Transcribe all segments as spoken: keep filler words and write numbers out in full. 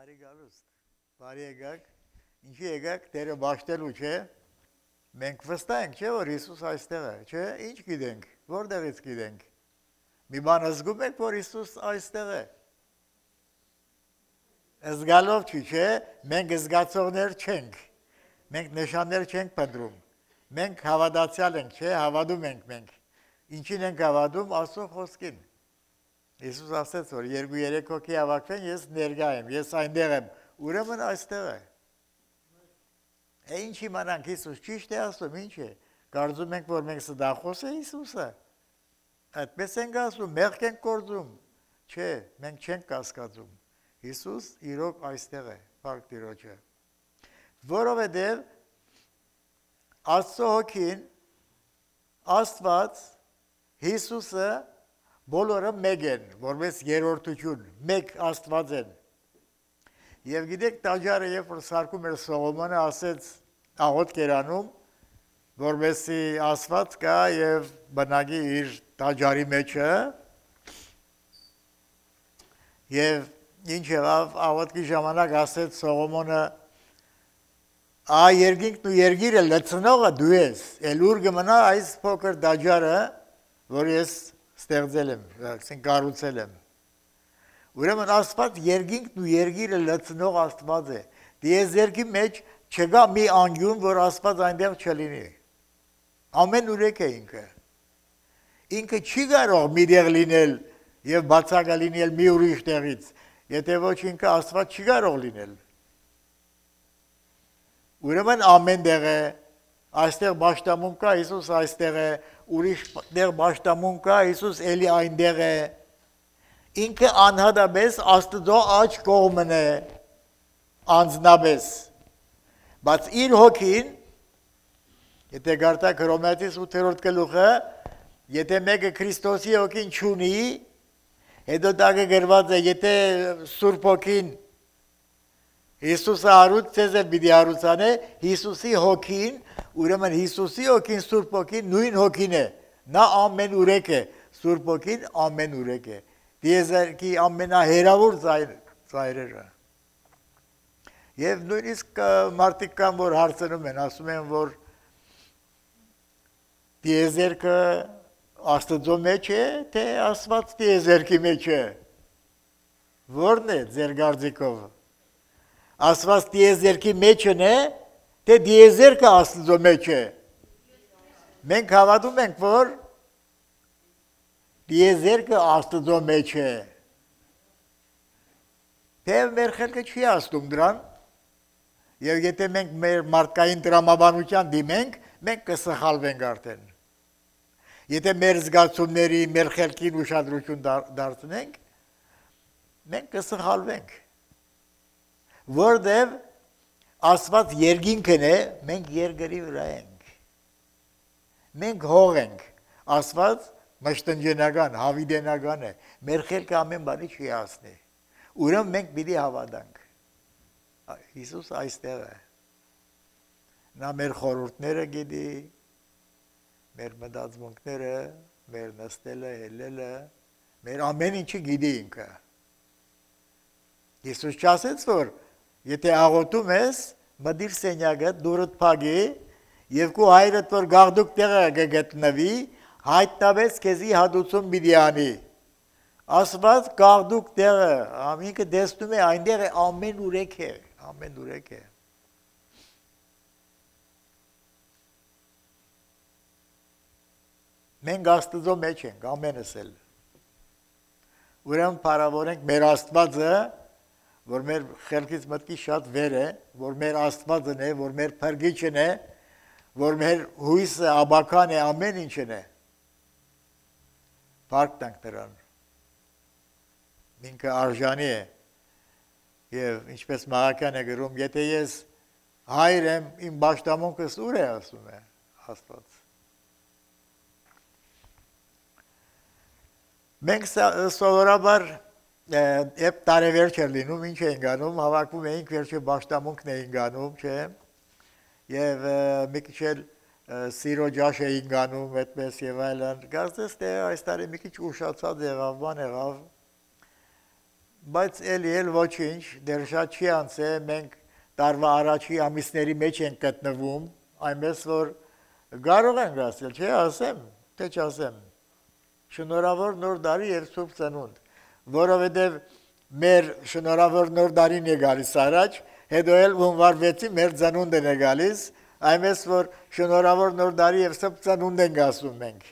Բարի գալուստ, բարի եկաք, ինչի եկաք, դերը բաշտելու չէ, մենք վստահ ենք, չէ, որ Հիսուս այստեղ է, չէ, ինչ գիտենք, որտեղից գիտենք, մի բան զգում եք, որ Հիսուս այստեղ է, զգալով չի, չէ, մենք զգացողներ չենք, մենք նշաններ չենք պնդրում, մենք հավատացյալ ենք, չէ, հավատում ենք մենք, ինչին ենք հավատում, Աստծո խոսքին, Հիսուս ասեց, որ երկու երեք հոգի հավաքվեն, ես ներկա եմ, ես այնտեղ եմ, ուրեմն այստեղ է։ Է ինչ իմանանք Հիսուս ճիշտ է ասում, ինչ է, կարծում ենք, որ մենք սդախոս է Հիսուսը, այդպես ենք ասում, մեղք ենք գործում, չէ, մենք չենք կասկածում, Հիսուս իրոք այստեղ է, փառք Տիրոջը, որովհետև Աստծո հոգին, Աստված, Հիսուսը բոլորը մեկ են, որպես երրորդություն, մեկ Աստված են։ Եվ գիտեք, տաճարը, երբ որ սարքում էր Սողոմոնը, ասեց աղոթք էր անում, որպեսզի Աստված կա եւ բնակի իր տաճարի մեջը։ Եվ ինչ եղավ, աղոթքի ժամանակ ասեց Սողոմոնը, «Ա երկինքն ու երկիրը լցնողը դու ես, էլ ուր կմնա այս փոքր տաճարը, որ ես ստեղծել եմ, կառուցել եմ։ Ուրեմն Աստված երկինքն ու երկիրը լցնող Աստված է։ Տիեզերքի մեջ չկա մի անկյուն, որ Աստված այնտեղ չլինի։ Ամեն ուրեք է ինքը։ Ինքը չի կարող մի տեղ լինել եւ բացակա լինել մի ուրիշ տեղից, եթե ոչ ինքը Աստված չի կարող լինել։ Ուրեմն ամեն տեղ է, այստեղ բաշտամուն կա, Հիսուս այստեղ է, ուրիշ տեղ բաշտամուն կա, Հիսուս էլի այնտեղ է, ինքը անհատապես Աստծո աջ կողմն է, անձնապես, բայց իր հոգին, եթե գարտակ Հռոմեացիս ութերորդ գլուխը, եթե մեկը Քրիստոսի հոգին չունի, հետո տակը գրված է, եթե Սուրբ հոգին Հիսուսը հարուց ձեզ էլ պիտի հարուցանե, Հիսուսի հոգին, ուրեմն Հիսուսի հոգին, Սուրբ հոգին նույն հոգին է, նա ամեն ուրեք է, Սուրբ հոգին ամեն ուրեք է, տիեզերքի ամենահեռավոր ծայրերը։ Եվ նույնիսկ մարդիկ կան, որ հարցնում են, ասում են, որ տիեզերքը Աստծո մեջ է, թե Աստված տիեզերքի մեջ է, որն է ձեր կարծիքով։ Աստված տիեզերքի մեջն է, թե տիեզերքը Աստծո մեջ է։ Մենք հավատում ենք, որ տիեզերքը Աստծո մեջ է։ Թեև մեր խելքը չի ասում դրան, եւ եթե մենք մեր մարդկային տրամաբանության դիմենք, մենք կսխալվենք արդեն։ Եթե մեր զգացումների, մեր խելքին ուշադրություն դարձնենք, մենք կսխալվենք։ Որտև Աստված երկինքն է, մենք երկրի վրա ենք։ Մենք հող ենք, Աստված մշտնջենական, հավիդենական է, մեր խելքը ամեն բանի չի հասնի, ուրեմն մենք պիտի հավատանք, Հիսուս այստեղ է, նա մեր խորհուրդները գիտի, մեր մտածմունքները, մեր նստելը, հելելը, մեր ամեն ինչը գիտի ինքը։ Հիսուս չասեց, որ եթե աղոթում ես, մտիր սենյակը, դուրդ փակի, եւ քո հայրդ որ գաղդուկ տեղը կգտնվի, հայտնաբես քեզի հատուցում պիտի անի։ Աստված գաղդուկ տեղը, ամինքը տեսնում է, այնտեղ է ամեն ուրեք է, ամեն ուրեք է։ Մենք Աստծո մեջ ենք, ամենս էլ։ Ուրեմն փառավորենք մեր Աստվածը, որ մեր խելքից մտքի շատ վեր է, որ մեր Աստվածն է, որ մեր փրկիչն է, որ մեր հույսը, աբական է, ամեն ինչն է։ Փառք տանք նրան։ Ինքը արժանի է։ Եվ ինչպես Մաղաքյան է գրում, եթե ես հայր եմ, իմ պաշտամունքս ուր է, ասում է Աստված։ Մենք սովորաբար Եվ տարեվերջ էր լինում, ինչ էին գանում, հավաքվում էինք, վերջը պաշտամունքն էին գանում, չէ, և մի քիչ էլ սիրո ջաշ էին գանում, այդպես և այլն, կարծես թե այս տարի մի քիչ ուշացած եղավ, բան եղավ, բայց էլի էլ ոչինչ, դեռ շատ չի անցել, մենք տարվա առաջի ամիսների մեջ ենք գտնվում, այնպես որ կարող ենք ասել, չէ, ասեմ, թե չասեմ։ Շնորհավոր նոր տարի եւ Սուրբ Ծնունդ, որովհետեւ մեր շնորհավոր նոր տարին է գալիս առաջ, հետո էլ հունվար վեցի մեր ծնունդն է գալիս, այնպես որ շնորհավոր նոր տարի եւ Սուրբ Ծնունդ ենք ասում մենք։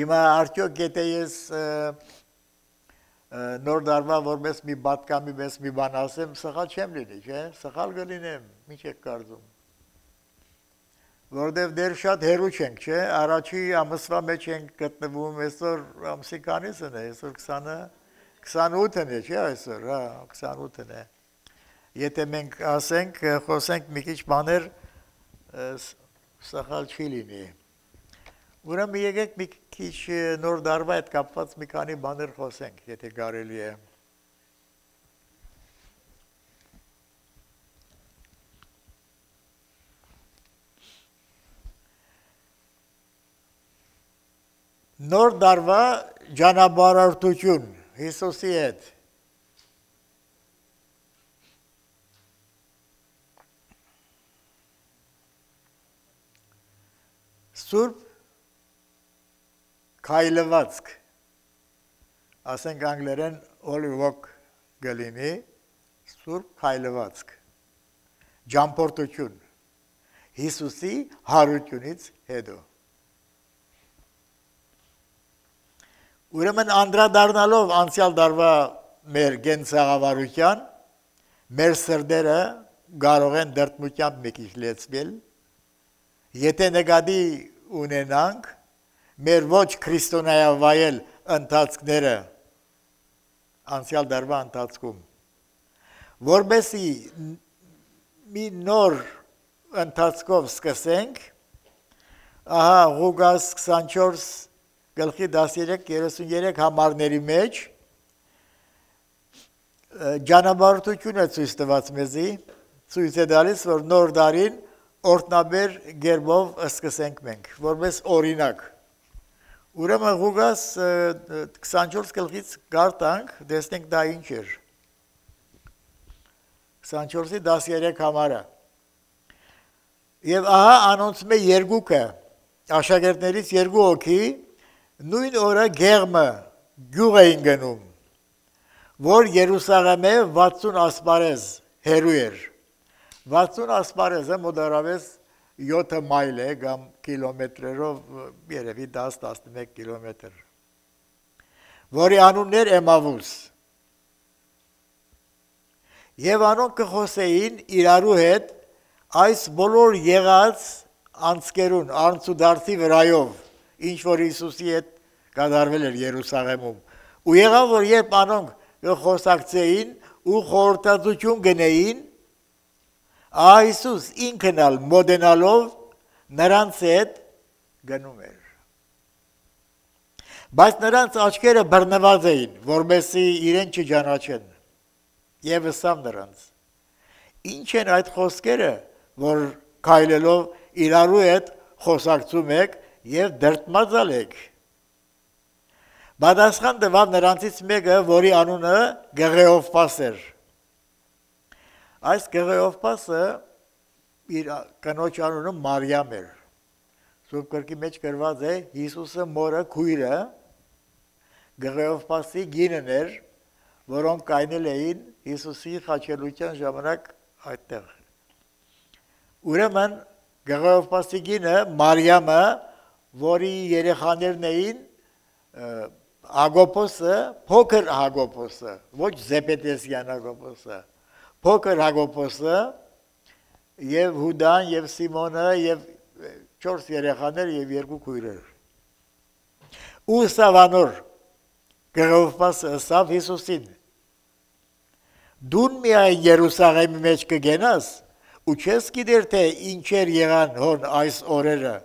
Հիմա արդյոք եթե ես նոր տարվա որպես մի պատկամի պես մի բան ասեմ, սխալ չեմ լինի, չէ՞, սխալ կլինեմ, ինչ եք կարծում։ Որտեւ դեռ շատ հեռու չենք, չէ՞, առաջի ամսվա մեջ ենք գտնվում, այսօր ամսի քանիսն է, այսօր քսանը, քսանութն է, չէ՞, այսօր, հա, քսանութն է։ Եթե մենք ասենք, խոսենք մի քիչ բաներ, սխալ չի լինի։ Ուրեմն եկեք մի քիչ նոր տարվա հետ կապված մի քանի բաներ խոսենք, եթե կարելի է։ Նոր տարվա ճանապարհորդություն Հիսուսի հետ։ Սուրբ քայլվածք, ասենք անգլերեն holy walk գլինի, սուրբ քայլվածք, ճամփորդություն, Հիսուսի հարությունից հետո։ Ուրեմն անդրադառնալով անցյալ տարվա մեր գենցաղավարության, մեր սրտերը կարող են դրդմությամբ մի քիչ լեցվել, եթե նկատի ունենանք մեր ոչ քրիստոնեավայել ընթացքները անցյալ տարվա ընթացքում, որբեսի մի նոր ընթացքով սկսենք, ահա Ղուկաս քսանչորս գլխի դասերեք երեսունյերեք համարների մեջ ճանապարհորդություն է ցույց տված մեզի, ցույց է տալիս, որ նոր տարին օրտնաբեր գերբով սկսենք մենք, որպես օրինակ։ Ուրեմն Ղուկաս քսանչորս գլխից գարտանք, տեսնենք դա ինչ էր։ քսանչորսի դասերեք համարը։ Եվ ահա անոնցում է երկուքը, աշակերտներից երկու հոգի, նույն օրը Գեղմը գյուղ էին գնում, որ Երուսաղեմը վաթսուն ասպարեզ հեռու էր։ վաթսուն ասպարեզը մոտավորապես յոթ մայլ է կամ կիլոմետրերով երևի դաս տասնմեկ կիլոմետր, որի անունն էր Էմավուս։ Եվ անոնք կխոսեին իրարու հետ այս բոլոր եղած անցկերուն, անցուդարձի վրայով, ինչ որ Հիսուսի հետ կատարվել էր Երուսաղեմում։ Ու եղավ, որ երբ անոնք կխոսակցեին ու խորհրդածություն գնեին, Այսուս ինքն ալ մոդենալով նրանց հետ գնում էր։ Բայց նրանց աչքերը բռնված էին, որպեսզի իրեն չճանաչեն։ Եվ ըսավ նրանց. Ինչ են այդ խոսքերը, որ քայլելով իրարու հետ խոսակցում եք եւ դրդմածալ եք։ Պատասխան տվավ նրանցից մեկը, որի անունը Գեղեովպաս էր։ Այս Գեղեովպասը իր կնոջ անունը Մարիամ էր։ Սուրբ գրքի մեջ գրված է Հիսուսը մորը քույրը Գեղեովպասի գինն էր, որոնք կայնել էին Հիսուսի խաչելության ժամանակ այդտեղ։ Ուրեմն Գեղեովպասի գինը Մարիամը, որի երեխաներն էին Հակոբոսը, փոքր Հակոբոսը, ոչ Զեբեդեսյան Հակոբոսը, փոքր Հակոբոսը եւ Հուդան եւ Սիմոնը եւ չորս երեխաներ եւ երկու քույրեր։ Ու սավանոր Գեղեովպասը ասավ Հիսուսին. Դուն միայն Երուսաղեմի մեջ կգենաս ու չես գիտեր թե ինչեր եղան հոն այս օրերը։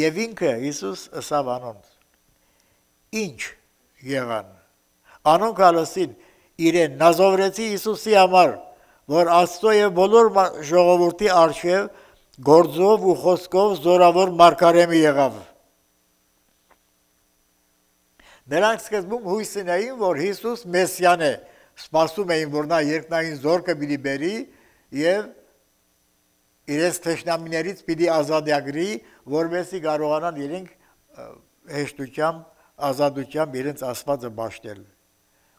Եվ ինքը Հիսուս ասավ անոնց. Ինչ եղան։ Անոնք ալասին իրեն նազովրեցի Հիսուսի համար, որ Աստծո եւ բոլոր ժողովրդի արժեվ գործով ու խոսքով զորավոր մարգարեմի եղավ։ Նրանք սկզբում հույս ունեին, որ Հիսուս Մեսիան է, սպասում էին, որ նա երկնային զորքը պիտի բերի եւ իրենց թշնամիներից պիտի ազատագրի, որովհետեւ կարողանան իրենք հեշտությամբ, ազատությամբ իրենց Աստվածը բաշխել։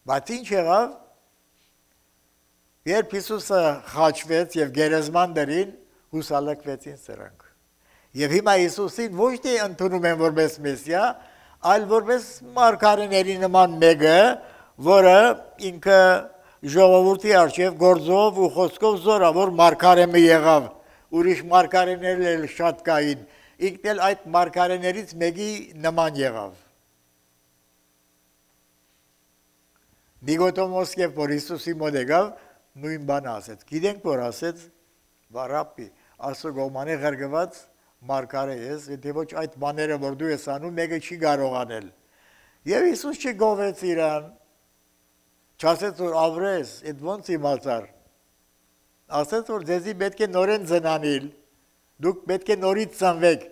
Բայց ինչ եղավ, երբ Հիսուսը խաչվեց եւ գերեզման դրին, հուսալքվեցին սրանք։ Եվ հիմա Հիսուսին ոչ թե ընդունում են որպես Մեսիա, այլ որպես մարգարեների նման մեկը, որը ինքը ժողովրդի առջև գործով ու խոսքով զորավոր մարգարեմը եղավ, ուրիշ մարգարեներ էլ շատ կային, ինքն էլ այդ մարգարեներից մեկի նման եղավ։ Նիկոդեմոս եւ որ Հիսուսի մոտ եկավ, նույն բանը ասեց։ Գիտենք որ ասեց, «Վարապի, ասո գոմանի ղրգված մարգարե ես, եթե ոչ այդ բաները որ դու ես անում, մեկը չի կարող անել»։ Եվ Հիսուս չգովեց իրան, չասեց որ ավրես, այդ ոնց իմացար։ Ասեց որ ձեզի պետք է նորեն ծնանել, դուք պետք է նորից ծնվեք,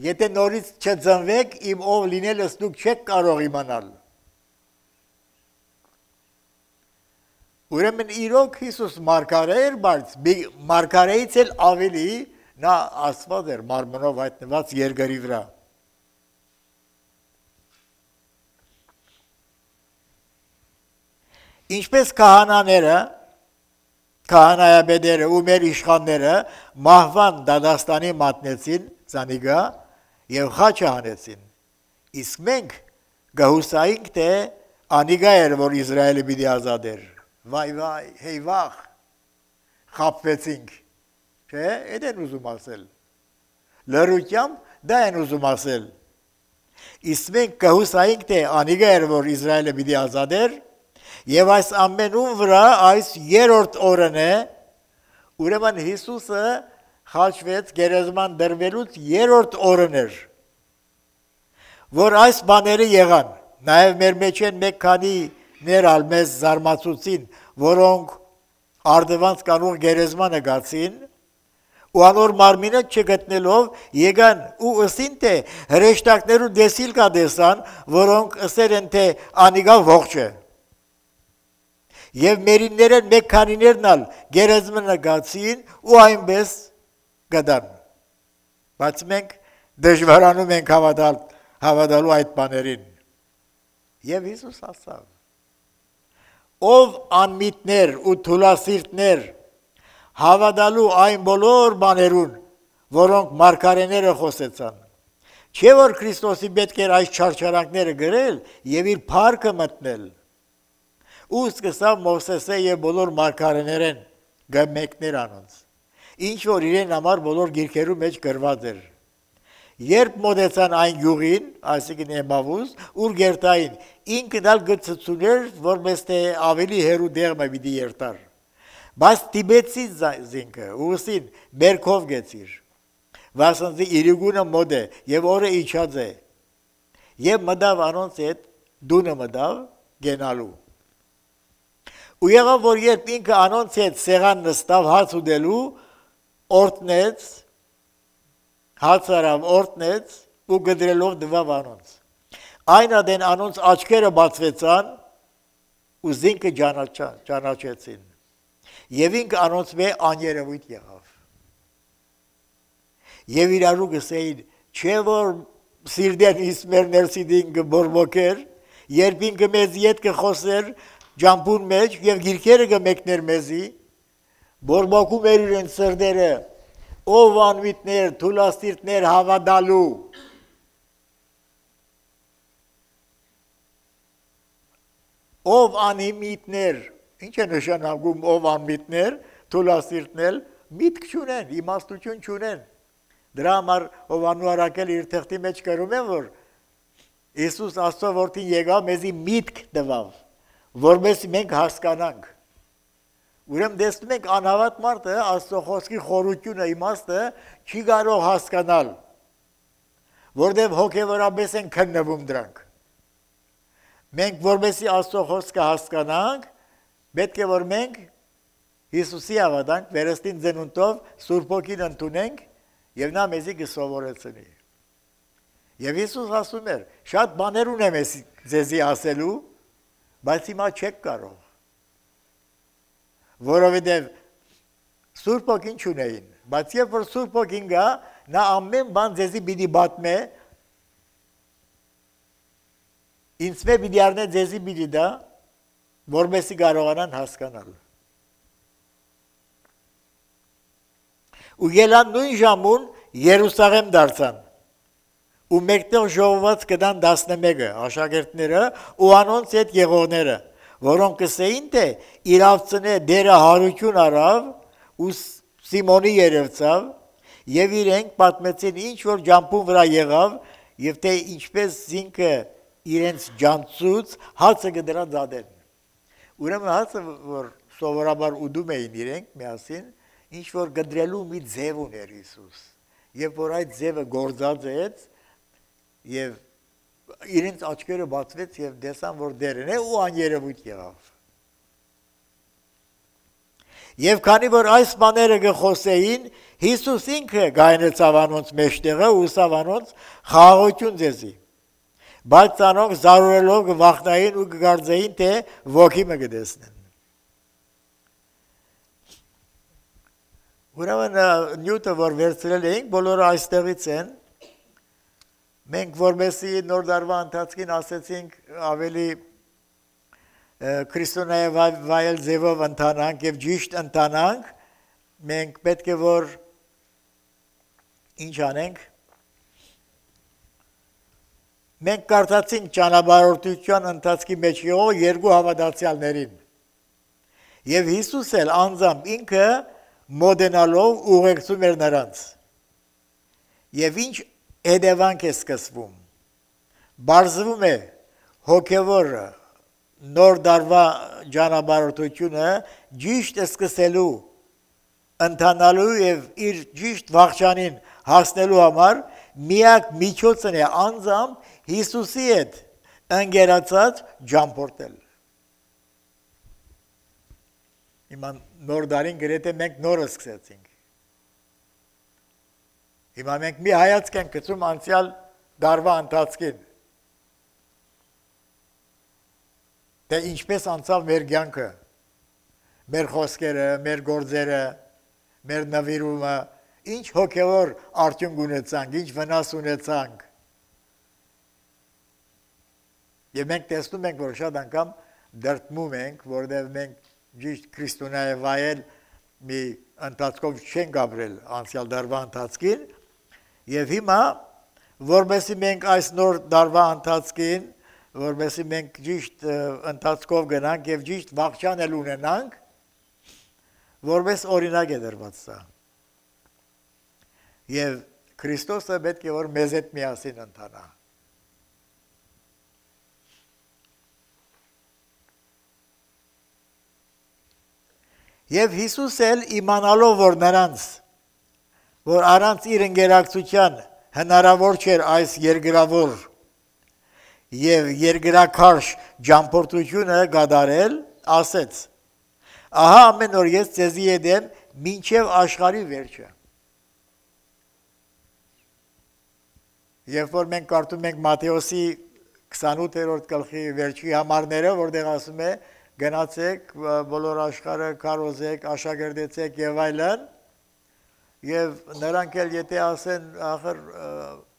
եթե նորից չծնվեք, իմ ով լինելս դուք չեք կարող իմանալ։ Ուրեմն իրոք Հիսուս մարգարե էր, բայց մարգարեից էլ ավելի նա Աստված էր մարմնով հայտնված երկրի վրա։ Ինչպես քահանաները, քահանայապետերը ու մեր իշխանները մահվան դատաստանի մատնեցին ցանիգա եւ խաչը հանեցին։ Իսկ մենք գահուսայինք թե անիգա էր, որ Իսրայելը պիտի ազատեր։ Վայ վայ, հեյ վախ, խապվեցինք, չէ, այդ են ուզում ասել, լրությամբ դա են ուզում ասել, իսկ մենք կհուսայինք, թե անիգա էր, որ Իսրայելը պիտի ազատեր, և այս ամենում վրա այս երորդ օրն է, ուրեմն Հիսուսը խաչվեց գերեզման դրվելուց երորդ օրն էր, որ այս բաները եղան, նաև մեր մեջ են մեկ քանի ներալ մեզ զարմացուցին, որոնք արդվանց կանող գերեզմանը գացին, ու անոր մարմինը չգտնելով եկան ու ըսին թե հրեշտակներու դեսիլ կա դեսան, որոնք ըսեր են թե անիգա ողջ է։ Եվ մերիններեն մեկ քանիներն ալ գերեզմանը գացին ու այնպես գդան։ Բայց մենք դժվարանում ենք հավատալ, հավատալու այդ բաներին։ Եվ Հիսուս ասավ. ով անմիտներ ու թուլասիրտներ հավատալու այն բոլոր բաներուն, որոնք մարգարեները խոսեցան, չէ որ Քրիստոսի պետք էր այս չարչարանքները գրել եւ իր փառքը մտնել։ Ու սկսավ Մովսեսը եւ բոլոր մարգարեներեն գմեկներ անոնց, ինչ որ իրեն համար բոլոր գիրքերու մեջ գրված էր։ Երբ մոտեցան այն գյուղին, այսինքն Էմավուս, ուր գերտային, ինքն ալ գծծուներ, որպես թե ավելի հերու դեղմը պիտի երտար։ Բայց տիբեցի զինքը, ուսին բերքով գեցիր, վասնզի իրիգունը մոդ է եւ օրը իջած է։ Եվ մտավ անոնց հետ դունը մտավ գենալու։ Ու եղավ որ երբ ինքը անոնց հետ սեղան նստավ հաց ուտելու, օրտնեց հացարավ օրտնեց ու գդրելով դվավ անոնց։ Այն ադեն անոնց աչքերը բացվեցան ու զինքը ճանաչեցին։ Եվ ինքը անոնց մե աներևույթ եղավ։ Եվ իրարու գսեին, չէ որ սիրդեն իսմեր ներսիդին գբորբոքեր, երբ ինքը մեզ ետ կխոսեր ջամպուն մեջ և գիրքերը գմեկներ մեզի, բորբոքում էր իրեն սրդերը, ով անմիտներ, թուլաստիրտներ հավատալու։ Ով անիմիտներ, ինչ է նշանակում ով անմիտներ, թուլաստիրտներ, միտք չունեն, իմաստություն չունեն։ Դրա համար Հովանու առաքել իր թղթի մեջ կրում են, որ Իսուս Աստծո որդին եկավ մեզի միտք տվավ, որպես մենք հասկանանք։ Ուրեմն տեսնում ենք անհավատ մարդը Աստծո խոսքի խորությունը իմաստը չի կարող հասկանալ, որտեղ հոգևորապես են քննվում դրանք։ Մենք որպեսզի Աստծո խոսքը հասկանանք, պետք է որ մենք Հիսուսի հավատանք, վերստին ծնունդով Սուրբ Հոգին ընդունենք եւ նա մեզի կսովորեցնի։ Եվ Հիսուս ասում էր, շատ բաներ ունեմ ես ձեզի ասելու, բայց հիմա չեք կարող, որովհետև Սուրբ Ոգին չունեին, բայց երբ որ Սուրբ Ոգին գա, նա ամեն բան ձեզի պիտի բատմե, ինձ մե պիտի առնե ձեզի պիտի դա, որպեսզի կարողանան հասկանալ։ Ու ելան նույն ժամուն Երուսաղեմ դարձան, ու մեկտեղ ժողոված կդան տասնմեկը աշակերտները ու անոնց հետ եղողները, որոնք կսեին թե իրավցնե դերը հարություն արավ ու Սիմոնի երևցավ եւ իրենք պատմեցին ինչ որ ջամփուն վրա եղավ եւ թե ինչպես զինքը իրենց ջանցուց հացը կդրա դադեն։ Ուրեմն հացը որ սովորաբար ուդում էին իրենք միասին ինչ որ գդրելու մի ձև ուներ Հիսուս եւ որ այդ ձևը գործած էր եւ իրենց աչքերը բացվեց եւ տեսան որ դերն է ու աներևույթ եղավ։ Եվ քանի որ այս բաները գխոսեին, Հիսուս ինքը գայնեցավ անոնց մեջտեղը ու ուսավ անոնց խաղաղություն ձեզի։ Բայց անոնք զարուրելով կվախնային ու կգարձեին, թե ոգի մը կտեսնեն։ Ուրեմն նյութը, որ վերցրել էինք, բոլորը այստեղից են։ Մենք որպեսզի նոր դարվա ընթացքին ասեցինք ավելի քրիստոնեայ վայել ձևով ընթանանք եւ ճիշտ ընթանանք, մենք պետք է որ ինչ անենք։ Մենք կարդացինք ճանապարհորդության ընթացքի մեջ եղող երկու հավատացյալներին։ Եվ Հիսուս էլ անձամբ ինքը մոդենալով ուղեկցում էր նրանց։ Եվ ինչ հետևանք է սկսվում։ Բարձվում է հոգևորը նոր դարվա ճանապարհորդությունը ճիշտ սկսելու ընթանալու եւ իր ճիշտ վախճանին հասնելու համար միակ միջոցն է անձամբ Հիսուսի հետ ընկերացած ճամփորդել։ Հիմա նոր դարին գրեթե մենք նորը սկսեցինք։ Հիմա մենք մի հայացք ենք գցում անցյալ դարվա ընթացքին։ Թե ինչպես անցավ մեր կյանքը, մեր խոսքերը, մեր գործերը, մեր նվիրումը, ինչ հոգևոր արդյունք ունեցանք, ինչ վնաս ունեցանք։ Եվ մենք տեսնում ենք, որ շատ անգամ դրդմում ենք, որտեղ մենք ճիշտ քրիստոնեայ վայել մի ընթացքով չենք ապրել անցյալ դարվա ընթացքին, եւ հիմա, որպեսզի մենք այս նոր դարվա ընթացքին որպեսզի մենք ճիշտ ընթացքով գնանք եւ ճիշտ վախճան էլ ունենանք, որպես օրինակ է դրված սա։ Եվ Քրիստոսը պետք է որ մեզ հետ միասին ընթանա։ Եվ Հիսուս էլ իմանալով որ նրանց, որ առանց իր ընկերակցության հնարավոր չէր այս երկրավոր եւ երկրակարճ ճամփորդությունը գդարել, ասեց. Ահա ամեն օր ես ձեզի հետ եմ մինչև աշխարհի վերջը։ Երբ որ մենք կարդում ենք Մատթեոսի քսանութերորդ գլխի վերջի համարները, որտեղ ասում է գնացեք բոլոր աշխարհը քարոզեք, աշակերտեցեք եւ այլն, եւ նրանք էլ եթե ասեն ախր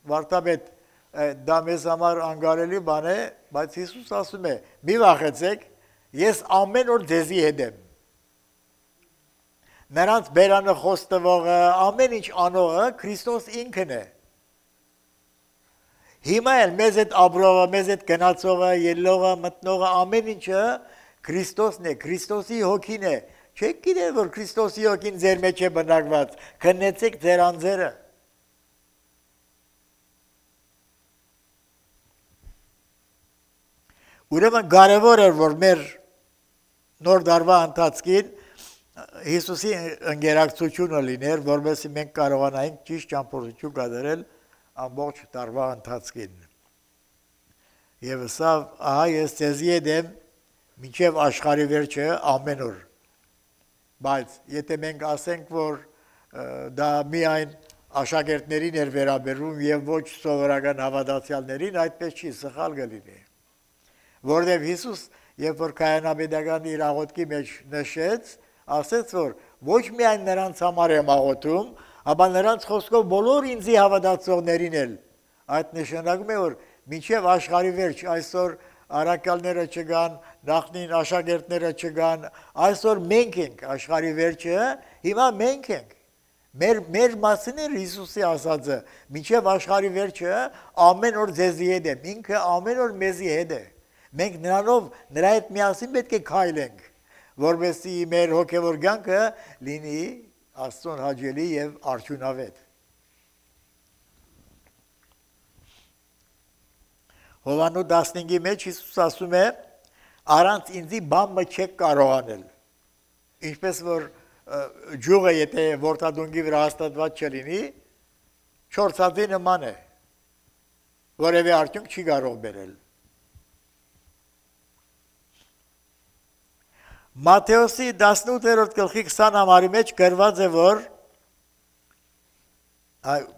վարդապետ դա մեզ համար անգարելի բան է, բայց Հիսուս ասում է. մի վախեցեք, ես ամեն օր ձեզի հետ եմ։ Նրանց բերանը խոստվողը, ամեն ինչ անողը Քրիստոս ինքն է։ Հիմա էլ մեզ հետ ապրողը, մեզ հետ գնացողը, ելնողը, մտնողը, ամեն ինչը Քրիստոսն է, Քրիստոսի հոգին է։ Չեք գիտել, որ Քրիստոսի հոգին ձեր մեջ է բնակված, քննեցեք ձեր անձերը։ Ուրեմն կարևոր էր, որ մեր նոր դարվա ընթացքին Հիսուսի ընկերակցությունը լիներ, որովհետեւ մենք կարողանայինք ճիշտ ճամփորդություն կատարել ամբողջ դարվա ընթացքին։ Եվ սա ահա ես ձեզի հետ եմ մինչև աշխարհի վերջը ամեն օր։ Բայց եթե մենք ասենք, որ դա միայն աշակերտներին էր վերաբերում եւ ոչ սովորական հավատացյալներին, այդպես չի, սխալ կլինի։ որովհետև Հիսուս երբ որ կայանապետական իր աղոթքի մեջ նշեց, ասեց որ ոչ միայն նրանց համար եմ աղոթում, ապա նրանց խոսքով բոլոր ինձի հավատացողներին էլ։ Այդ նշանակում է որ մինչև աշխարհի վերջ այսօր արաքալները չգան, նախնին աշակերտները չգան, այսօր մենք ենք աշխարհի վերջը, հիմա մենք ենք։ Մեր մեր մասին է Հիսուսի ասածը, մինչև աշխարհի վերջը ամեն օր ձեզի հետ եմ, ինքը ամեն օր մեզի հետ է։ Մենք նրանով նրա հետ միասին պետք է քայլենք, որովհետեւ մեր հոգևոր կյանքը լինի Աստծուն հաճելի եւ արդյունավետ։ Հովանու տասնհինգի մեջ Հիսուս ասում է. «Առանց ինձի բան չեք կարող անել»։ Ինչպես որ ջուղը եթե որդադունգի վրա հաստատված չլինի, չորցածի նման է, որևէ արդյունք չի կարող բերել։ Մատթեոսի տասնութերորդ գլխի քսան համարի մեջ գրված է, որ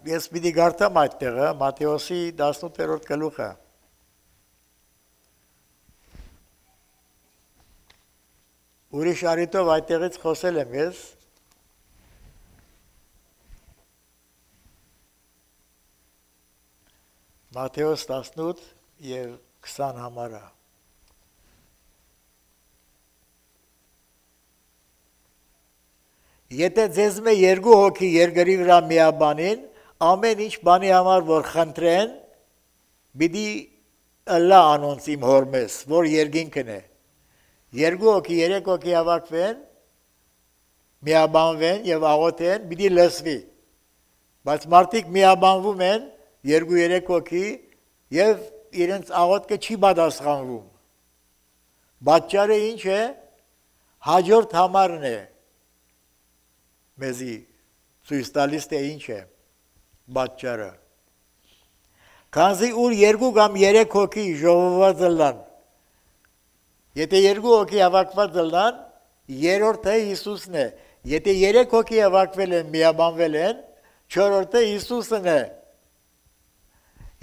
ես պիտի գարտամ այդ տեղը, Մատթեոսի տասնութերորդ գլուխը։ Ուրիշ առիթով այդտեղից խոսել եմ ես։ Մատթեոս տասնութ եւ քսան համարը։ Եթե ձեզ մե երկու հոգի երկրի վրա միաբանին, ամեն ինչ բանի համար որ խնդրեն, պիտի ըլլա անոնց իմ հորմես, որ երկինքն է։ Երկու հոգի, երեք հոգի հավաքվեն, միաբանվեն եւ աղոթեն, պիտի լսվի։ Բայց մարդիկ միաբանվում են, երկու երեք հոգի եւ իրենց աղոթքը չի պատասխանվում։ Պատճառը ինչ է։ Հաջորդ համարն է։ Մեզի ցույց տալիս թե ինչ է պատճառը։ Քանզի ուր երկու կամ երեք հոգի ժողովված լան, եթե երկու հոգի հավաքված լան, երրորդը Հիսուսն է։ Եթե երեք հոգի հավաքվել են, միաբանվել են, չորրորդը Հիսուսն է։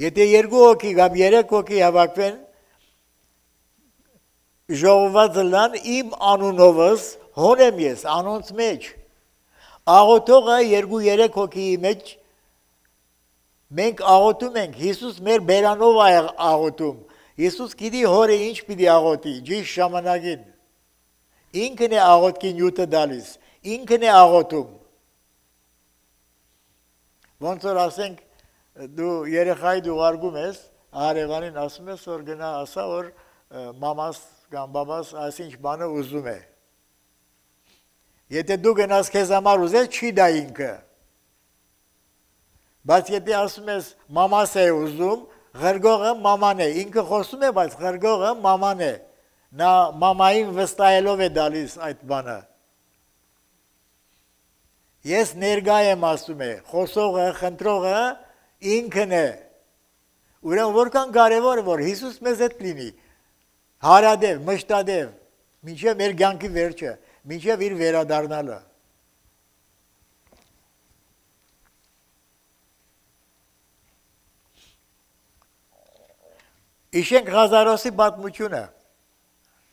Եթե երկու հոգի կամ երեք հոգի հավաքվեն, ժողովված լան, իմ անունովս հոն եմ ես, անոնց մեջ։ Աղոթողը երկու երեք հոգիի մեջ մենք աղոթում ենք, Հիսուս մեր բերանով է աղոթում։ Հիսուս գիտի հորը ինչ պիտի աղոթի, ճիշտ ժամանակին։ Ինքն է աղոթքի նյութը տալիս, ինքն է աղոթում։ Ոնց որ ասենք դու երեխայի ուղարկում ես, հարևանին ասում ես որ գնա ասա որ մամաս կամ բաբաս այսինչ բանը ուզում է։ Եթե դու գնաս քեզ համար ուզես, չի դա ինքը։ Բայց եթե ասում ես մամաս է ուզում, ղրգողը մաման է, ինքը խոսում է, բայց ղրգողը մաման է, նա մամային վստահելով է դալիս այդ բանը։ Ես ներկա եմ ասում է, խոսողը, խնդրողը ինքն է։ Ուրեմն որքան կարևոր է, որ Հիսուս մեզ հետ լինի, հարադև, մշտադև, մինչև մեր կյանքի վերջը, մինչև իր վերադառնալը։ Իշենք Ղազարոսի պատմությունը,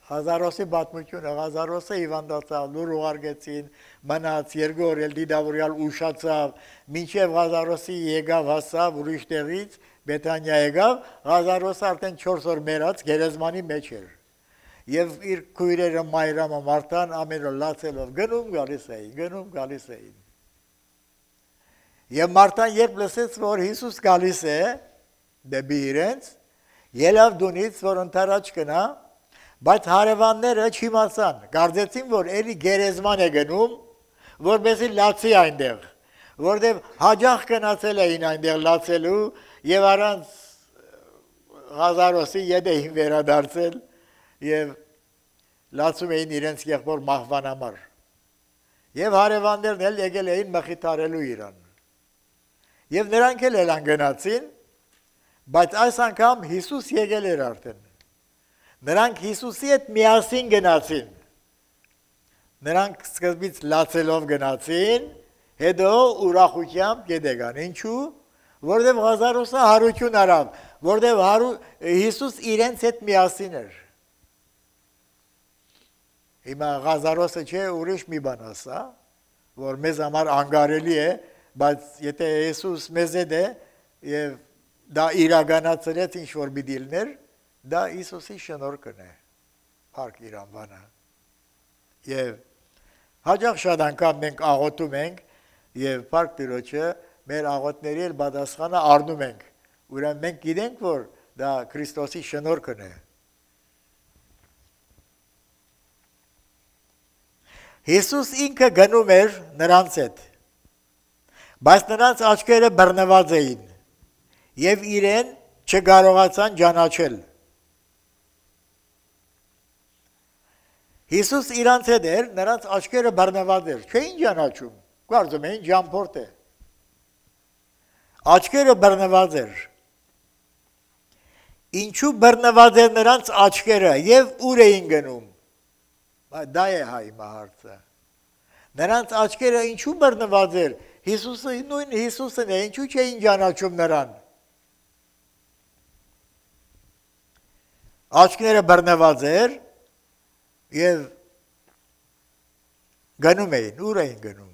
Ղազարոսի պատմությունը, Ղազարոսը հիվանդացավ, լուր ուղարկեցին, մնաց, երկու օր էլ դիդավորյալ ուշացավ, մինչև Ղազարոսի եկավ հասավ ուրիշ տեղից, Բեթանիա եկավ, Ղազարոսը արդեն չորս օր մեռած գերեզմանի մեջ էր։ Եվ իր քույրերը Մայրամը Մարտան ամեն օր լացելով գնում գալիս էին, գնում գալիս էին։ Եվ Մարտան երբ լսեց, որ Հիսուս գալիս է դեպի իրենց, ելավ դունից, որ ընթരാճ գնա, բայց հարևանները չիմացան, կարծեցին, որ էլի գերեզման է գնում, որպեսզի լացի այնտեղ, որտեղ հաջող գնացել էին այնտեղ լացելու եւ առանց Ղազարոսի ետ էին վերադարձել եւ լացում էին իրենց եղբոր մահվան համար։ Եվ հարևաններն էլ եկել էին մխիթարելու իրան։ Եվ նրանք էլ ելան գնացին, բայց այս անգամ Հիսուս եկել էր արդեն։ Նրանք Հիսուսի հետ միասին գնացին։ Նրանք սկզբից լացելով գնացին, հետո ուրախությամբ գետեգան։ Ինչու՞։ Որտեղ Ղազարոսը հարություն արավ, որտեղ Հիսուս իրենց հետ միասին էր։ Հիմա Ղազարոսը չէ, ուրիշ մի բան ասա, որ մեզ համար անգարելի է, բայց եթե Հիսուս մեզ հետ է եւ դա իրականացրեց ինչ որ մի դիլներ, դա Հիսուսի շնորհքն է։ Փառք իր անվանը։ Եվ հաջող շատ անգամ մենք աղոթում ենք եւ Փառք Տիրոջը մեր աղոթների էլ պատասխանը առնում ենք։ Ուրեմն մենք գիտենք, որ դա Քրիստոսի շնորհքն է։ Հիսուս ինքը գնում էր նրանց հետ, բայց նրանց աչքերը բռնված էին եւ իրեն չկարողացան ճանաչել։ Հիսուս իրանց հետ էր, նրանց աչքերը բռնված էր, չէին ճանաչում, կարծում էին ճամփորդ է։ Աչքերը բռնված էր։ Ինչու բռնված էր նրանց աչքերը եւ ուր էին գնում։ Դա է հայ հարցը։ Նրանց աչքերը ինչու բռնված էր, Հիսուսը նույն Հիսուսն է, ինչու չէին ճանաչում նրան։ Աչքները բռնված էր եւ գնում էին, ուր էին գնում։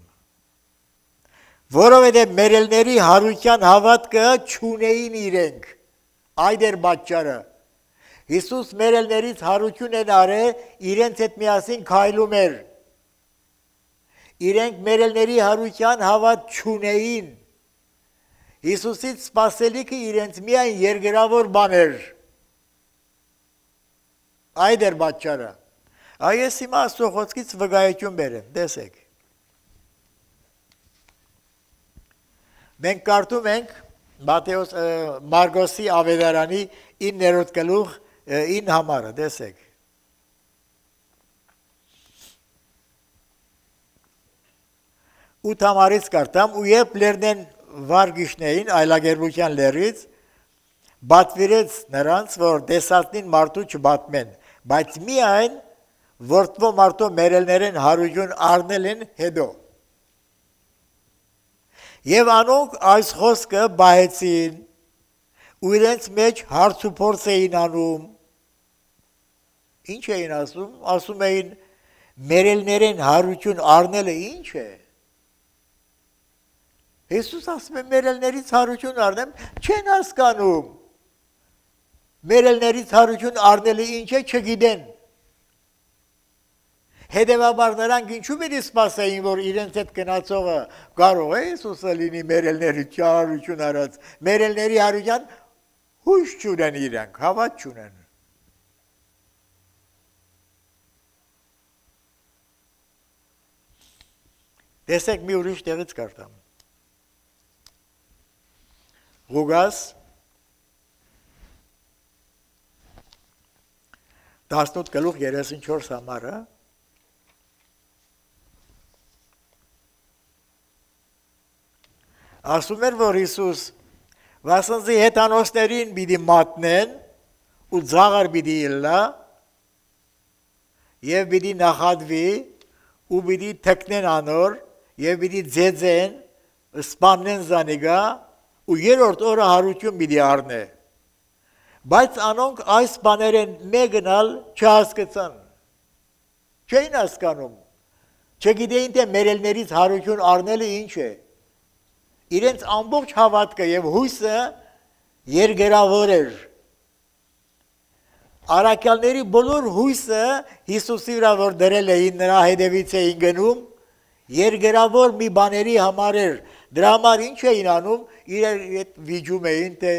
Որովհետեւ մերելների հարության հավատքը չունեին իրենք, այդ էր պատճառը։ Հիսուս մերելներից հարություն են արել, իրենց հետ միասին քայլում էր։ Իրենք մերելների հարության հավատ չունեին։ Հիսուսից սպասելիքը իրենց միայն երկրավոր բան էր։ Այդ էր պատճառը։ Այս հիմա Աստծո խոսքից վկայություն բերեմ, տեսեք։ Մենք կարդում ենք Մատթեոս Մարգոսի ավետարանի իններորդ գլուխ ին համարը, տեսեք։ Ութ համարից կարդամ, ու երբ լերնեն վարգիշներին այլագերբության լերից, բատվիրեց նրանց, որ տեսածնին մարդու չբատմեն, բայց միայն որդվո մարդու մերելներեն հարություն առնել են հետո։ Եվ անոնք այս խոսքը բայեցին, ու իրենց մեջ հարց ու փորձ էին անում։ Ինչ էին ասում, ասում էին մերելներեն հարություն առնելը ինչ է։ Հիսուս ասում է մերելներից հարություն առնեմ, չեն հասկանում։ Մերելներից հարություն առնելը ինչ է, չգիտեն։ Հետևաբար նրանք ինչու պիտի սպասեին, որ իրենց հետ գնացողը կարող է Հիսուսը լինի մերելների հարություն արած, մերելների հարության հույս չունեն իրենք, հավատ չունեն։ Տեսեք մի ուրիշ տեղից կարդամ։ Ղուկաս տասնութ գլուխ երեսունչորս համարը ասում էր, որ Հիսուս վասնզի հետանոսներին պիտի մատնեն ու ձաղար պիտի ելնա եւ պիտի նախատվի ու պիտի թքնեն անոր եւ պիտի ձեձեն սպաննեն զանիգա ու երրորդ օրը հարություն պիտի առնե։ Բայց անոնք այս բաներեն մեկնալ չհասկացան։ Չէին հասկանում։ Չգիտեին թե մերելներից հարություն առնելը ինչ է։ Իրենց ամբողջ հավատքը եւ հույսը երկրավոր էր։ Արաքյալների բոլոր հույսը Հիսուսի վրա որ դրել էին նրա հետևից էին գնում, երկրավոր մի բաների համար էր։ Դրա համար ինչ էին անում, իրար հետ վիճում էին, թե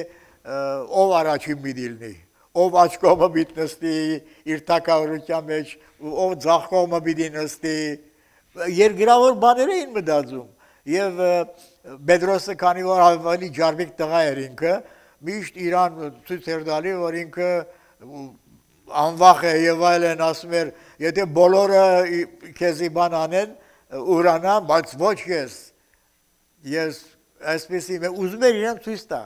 ով առաջին մի դիլնի, ով աջ կողմը պիտի նստի իր թագավորության մեջ, ով ձախ կողմը պիտի նստի, երկրավոր բաներ էին մտածում։ Եվ Պետրոսը քանի որ ավելի ջարմիկ տղա էր ինքը, միշտ իրան ցույց էր տալի, որ ինքը անվախ է եւ այլն, ասում էր, եթե բոլորը քեզի բան անեն, ուրանան, բայց ոչ ես։ Ես այսպեսի ուզում էր իրան ցույց տա։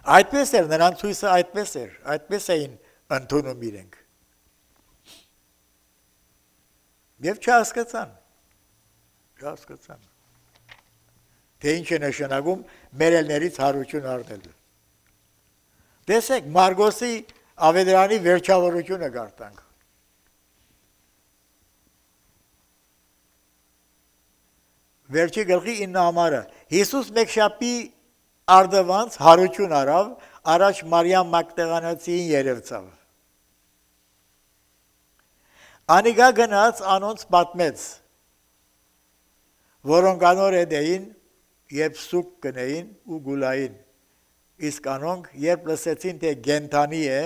Այդպես էր, նրանց ցույցը այդպես էր, այդպես էին ընդունում իրենք։ Եվ չհասկացան, չհասկացան, թե ինչ է նշանակում մերելներից հարություն առնելը։ Տեսեք, Մարգոսի ավետարանի վերջավորությունը գարտանք։ Վերջի գլխի ինը համարը։ Հիսուս մեկշապի արդվանց հարություն արավ, առաջ Մարիամ Մագդաղանացիին երևցավ։ Անիգա գնաց անոնց պատմեց, որոնք անոր հետ էին, երբ սուկ կնեին ու գուլային, իսկ անոնք երբ լսեցին, թե գենթանի է,